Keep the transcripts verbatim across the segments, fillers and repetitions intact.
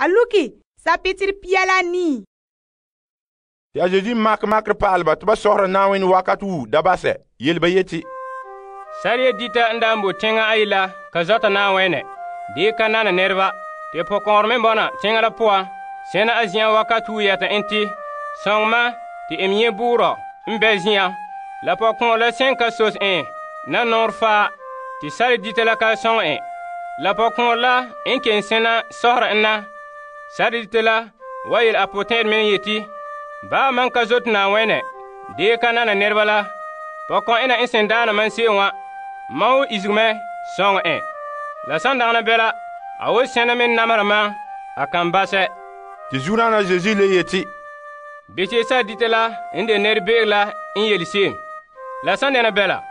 A luki sapitere pia la nii. Te a Zeezi makɛ makerɛ pa'alɛ ba te ba sɔhera Na'ayenɛ wakat wu da basɛ yele ba yeti, Sariya dita n daa bo teŋa ayi la ka zɔta Na'ayenɛ, dee ka nana nɛreba. Te pɔkɔɔnrɛ me bɔna teŋa la poan, sɛna a zen'an wakat wu yɛta en te, sɔŋ ma te em nyɛ buurɔ n bɛ zen'an. La pɔkɔɔnrɛ la sen ka sos en na nɔɔrɛ faa, te sariya dita la ka sɔŋɛ en. La pɔkɔɔnrɛ la n kelom sena sɔhera en na, sariya dita la wa yele a potɛn'ɛrɛ me yeti, Baa man ka zote Na'ayenɛ, dee ka nana nɛreba la, pɔkɔn'ɛna n sen daana man se'em wa, mam wo izege mɛ sɔŋɛ en. La san dagana bɛla, a wo sɛna me namera mam, a kan basɛ. Te zuodaana Zeezi le yeti, Beche sariya dita la n de nɛrebe'eg la n yele se'em. La san dɛna bɛla,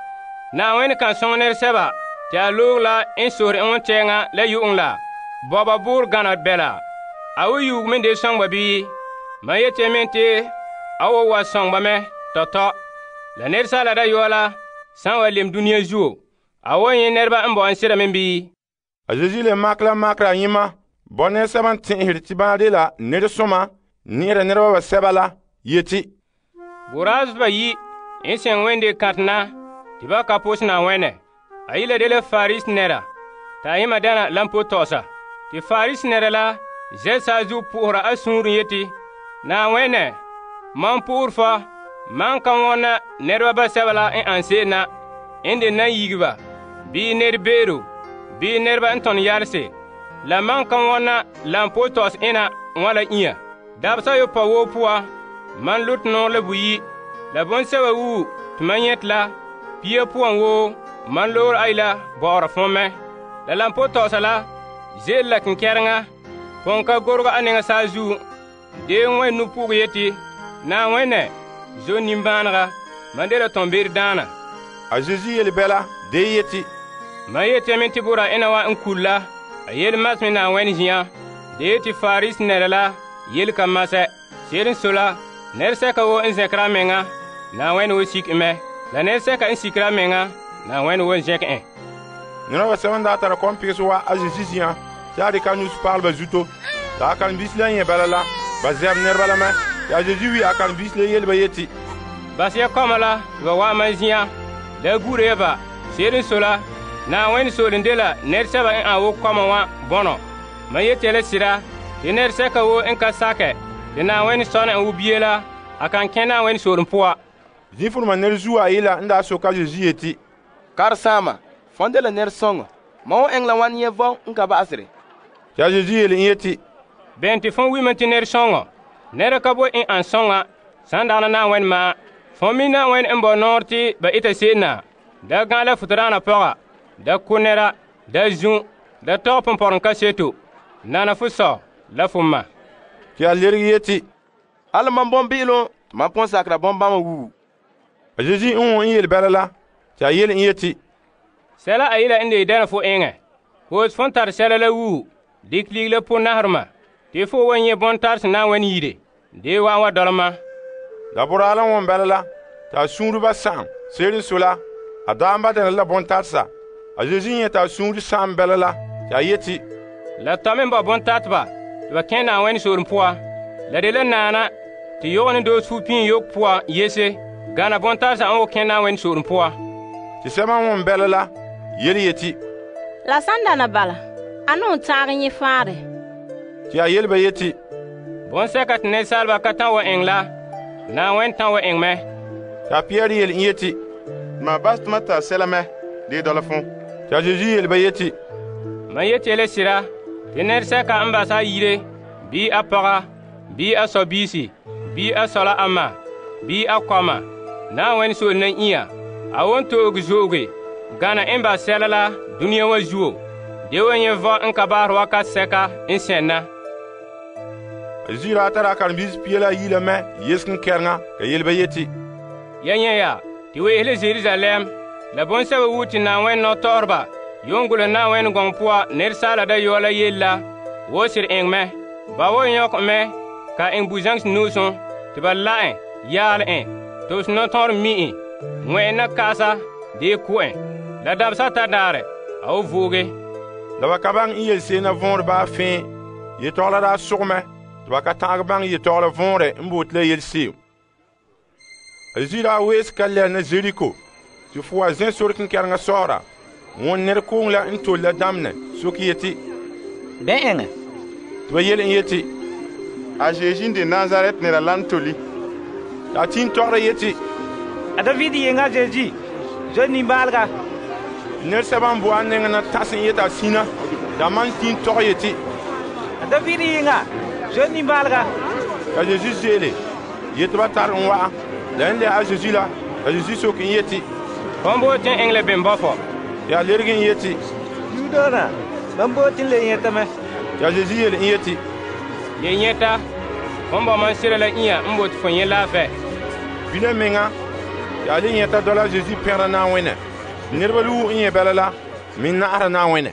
Na'ayenɛ kan sɔŋɛ nɛresɛba te a loog la n sohore en wontɛɛŋa la yu'uŋ la, bɔba buuri gana bɛla. A wo yuugu me de sɔŋ ba bii? Man yeti me te a wo wa sɔŋ ba mɛ tɔtɔ. La Asaala Dayɔa la san wa lem duniya zuo, a wo nyɛ nɛreba n bɔ'ɔn sera me bii? A Zeezi le makɛ la makerɛ ayema bɔ nɛresɛba n tɛn'ɛhere te bana dela nɛresoma nɛɛra nɛreba basɛba la yeti, Boraas ba yi n sɛŋ wende kãtɛ na te ba ka pos Na'ayenɛ. A yi la dela Farisi nɛra, ta ayema dana lampo tɔgɔsa. Te Farisi nɛra la zɛ saazuo po'ohera a suunren yeti, Na'ayenɛ, mam po'ore fa, mam ka wɔna nɛreba basɛba la n an se'em na, n de nan yigeba, bii nɛrebe'ero, bii nɛreba n tɔnɔ yalese. La mam ka wɔna lampo tɔgɔs ena wala inya. Dabesa yopa woo poan, man lote nɔɔ la buyi. La bonsɛba wu te man nyɛte la, pia poan woo, man loore ayi la bɔ'ɔra fõn mɛ. La lampo tɔgɔsa la ze'ele la kenkɛreŋa, pɔn ka gorega a nɛŋa saazuo. Dee n ŋmɛ nu puge yeti, Na'ayenɛ, zo nimbaanega, man dela tɔnbe'ero-daana. A Zeezi yele bɛla dee yeti, Man yeti me te bora ena wa n kul la, a yele mas me Na'ayenɛ zin'an, dee te Farisi nɛra la yele ka masɛ. Se'ere n sɔe la, nɛresɛka woo n zɛnkera a meŋa, Na'ayenɛ wo sik en mɛ. La nɛresɛka n sikera a meŋa, Na'ayenɛ wo zɛnkɛ en. Nɛreba basɛba n daa tara kɔmpegesɛ wa a Zeezi zin'an te a dikɛ a nu'usi pagalɛ ba zuto. Ta a karen-biisi la nyɛ bala la, ba zɛb nɛreba la mɛ. Te a Zeezi wi a karen-biisi la yele ba yeti, Bas ya kɔma la te ba wa'an mam zin'an, la gure ya ba. Se'ere n sɔe la, Na'ayenɛ sooren dela nɛresɛba n an wo kɔma wa bɔnɔ. Man yeti ya la sira, te nɛresɛka woo n ka sakɛ te Na'ayenɛ sɔna en wo bie la, a kan kẽ Na'ayenɛ sooren poan. Zĩifuruma nɛrezuo ayi la n daa soke a Zeezi yeti, Karesaama, fõn de la nɛresɔŋɔ. Mam wo eŋɛ la wan nyɛ vɔn n ka ba'asere. Te a Zeezi yele en yeti, Bɛn te fõn wi mam te nɛresɔŋɔ. Nɛra ka bo n an sɔŋa san dagana Na'ayenɛ ma'an. Fõn mi Na'ayenɛ n bɔ nɔɔrɛ te ba eta se'em na. Da gã la futuraana pɔga, da ko nɛra, da zu, da tɔgɛ pɔmpɔrɔŋ kaseto, nana fo sɔ la fo ma. te a lerege yeti, Hali mam bɔn-be'elom tɩ mam pʋ̃ sakera bɔn-bãmba wuu. A Zeezi n wõ n yele bɛla la, te a yele en yeti, Sɛla a yela n de dɛna fo eŋɛ. Hoos fõn tare sɛla la wuu, dikɛ ligiri la po naharema, te fo wa nyɛ bõn-tarse Na'ayenɛ yire, dee wa'an wa dɔla ma. La boraa la wõn bɛla la, te a suunreba sa'am. Se'ere n sɔe la, a daa n ba dɛna la bõn-taresa. A Zeezi nyɛ t'a suunre sa'am bɛla la, te a yeti, La tɔ me n ba bõn-tateba, tɩ ba kẽ Na'ayenɛ sooren poan. La de la naana tɩ yog ne doos fu-pĩin yok poan yese, gana bõn-taresa n wo kẽ Na'ayenɛ sooren poan. te sɛba n wõn bɛla la yele yeti, La san dana bala, a nu'un taagɛ nyɛ faare. te a yele ba yeti, Bõn-sɛka tɩ nɛresaalba ka tã wa ẽng la, Na'ayenɛ tã wa ẽng mɛ. te a Pɩyɛɛrɛ yele en yeti, Ma bas tɩ ma tara sɛla mɛ dee dɔla fõ. te a Zeezi yele ba yeti, Man yeti la sira, tɩ nɛresɛka n basa a yire, bii a pɔga, bii a sɔ-biisi, bii a sɔ la a ma, bii a kɔma, Na'ayenɛ soole na ĩa, a won to'oge zo'oge, gana n ba sɛla la dũniyã wa zuo. De wa nyɛ vɔ n ka baasɛ wakat sɛka n sɛnna. A Zeezi daa tara a karen-biisi pia la ayi la mɛ yesken kɛreŋa ka yele ba yeti, Ya nyɛ ya, tɩ weese la Jerusalɛm, la bõn-sɛba wu tɩ Na'ayenɛ nɔtɔgɔreba yon gulum Na'ayenɛ gɔŋɔ poan Nɛresaala Dayɔa la yelle la, wo sɩd ẽng mɛ. Ba wo yõk mɛ ka ẽng bu-zãŋs nuusẽ tɩ ba la ẽ, yaal ẽ, tɩ b nɔtɔgɔr mi ẽ, wẽ na kaasa dee ko ẽ. La dabesa ta daarɛ, a wo vooge. la ba ka baŋɛ n yele se'em na võore baa fẽe Yetɔgɔla daa sogɛ mɛ tɩ ba ka ta'agɛ baŋɛ yetɔgɔla vɔnrɛ n bote la yelese'em. A Yesu daa weese ka lɛɛ na Zeriko tɩ fo wa zɛ sore kenkɛreŋa sɔɔra. Won nɛrekooŋ la n tole la damenɛ soke yeti, Bɛ eŋɛ? tɩ ba yele en yeti, A Zeezi n de Nazaret nɛra la n tole. a tin tɔgɔra yeti, A David yenga Zeezi, zo nimbaalega. nɛresɛba n bo a nɛŋa na tãsɛ n yeti a sina t'a man tin tɔgɛ yeti, A David yenga, zo nimbaalega. ka Zeezi zeele yeti ba tare en wa'a. La n lɛ a Zeezi la, ka Zeezi soke en yeti, Fon bo tin engle ben bɔfɔ. ya lerege en yeti, Yuudana, ban booti le yɛtame. ya Zeezi yele en yeti, Ye nyɛta, fon ba man sira la iya n bot fo nyɛ laafɛ. Bila meŋa, ya le nyɛta dɔla Zeezi pɛgera Na'ayenɛ. Nɛreba lowo n nyɛ bala la, me na'ara Na'ayenɛ.